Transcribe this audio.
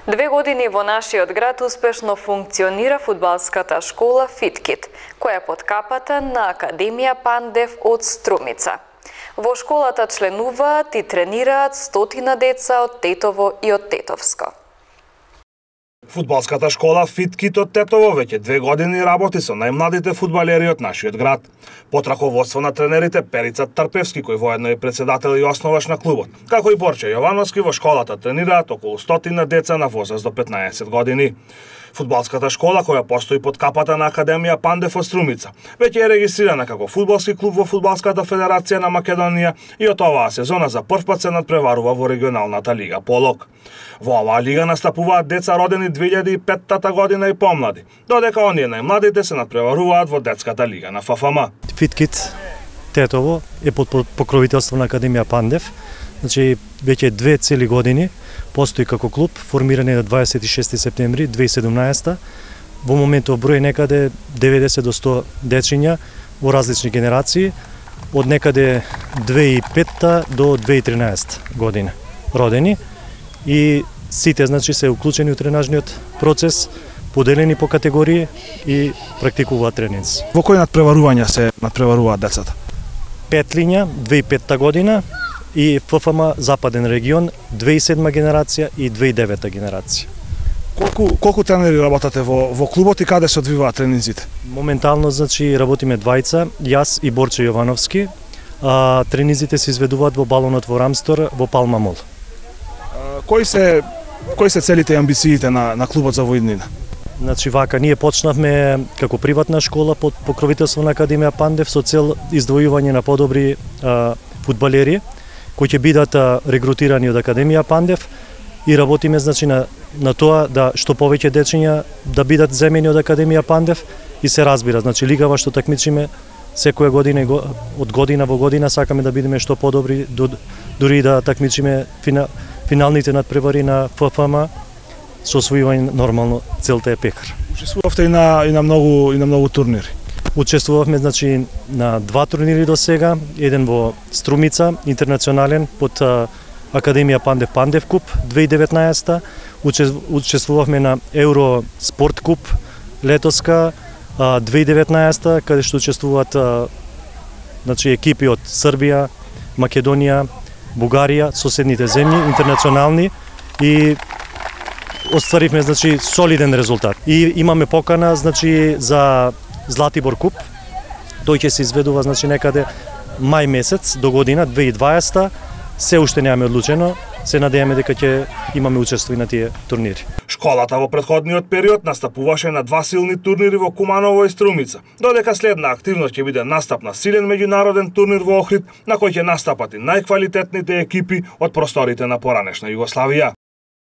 2 години во нашиот град успешно функционира фудбалската школа Фиткит, која е под капата на Академија Пандев од Струмица. Во школата членуваат и тренираат 100 деца од Тетово и од Тетовско. Фудбалската школа Фиткит од Тетово веќе 2 години работи со најмладите фудбалери од нашиот град. Под раководство на тренерите Перица Тарпевски, кој воедно е председател и основаш на клубот, како и Борче Јовановски, во школата тренираат околу 100 деца на возраст до 15 години. Фудбалската школа, која постои под капата на Академија Пандев од Струмица, веќе е регистрирана како фудбалски клуб во Фудбалската федерација на Македонија и од оваа сезона за прв пат се надпреварува во регионалната лига Полок. Во оваа лига настапуваат деца родени 2005 година и помлади, додека оние најмладите се надпреваруваат во детската лига на ФФМ. Фиткит Тетово е под покровителство на Академија Пандев. Значи, веќе 2 цели години постои како клуб, формиран на 26 септември 2017. Во моментов број некаде 90 до 100 дечиња во различни генерации, од некаде 2005 до 2013 година родени, и сите значи се уклучени во тренажниот процес, поделени по категории и практикуваат тренинзи. Во кои надпреварувања се надпреваруваат децата? Петлиња 2005 година и ФФМ Западен регион 2007 генерација и 2009 генерација. Колку тренери работате во клубот и каде се одвиваат тренинзите? Моментално значи работиме двајца, јас и Борче Јовановски. Тренинзите се изведуваат во балонот во Рамстор во Палма Мол. Кои се целите и амбициите на клубот за воиднина? Значи вака, ние почнавме како приватна школа под покровителство на Академија Пандев со цел издвојување на подобри фудбалери кои ќе бидат регрутирани од Академија Пандев, и работиме значи на тоа да што повеќе дечиња да бидат земени од Академија Пандев, и се разбира, значи лигава што такмичиме секоја година од година во година сакаме да бидеме што подобри, дури да такмичиме финалните надпревари на ФФМ со освојување нормално целта е пекар. Учествувавте и на многу турнири. Учествувавме значи на 2 турнири до сега, еден во Струмица, интернационален под Академија Пандев Пандев куп 2019, учествувавме на Евро Спорт куп летоска 2019, каде што учествуваат значи екипи од Србија, Македонија, Бугарија, соседните земји, интернационални, и остваривме значи солиден резултат. И имаме покана значи за Златибор куп. Тој ќе се изведува значи некаде мај месец до година 2020. Се уште немаме одлучено, се надеваме дека ќе имаме учество и на тие турнири. Школата во претходниот период настапуваше на 2 силни турнири во Куманово и Струмица, додека следна активност ќе биде настап на силен меѓународен турнир во Охрид, на кој ќе настапат и најквалитетните екипи од просторите на поранешна Југославија.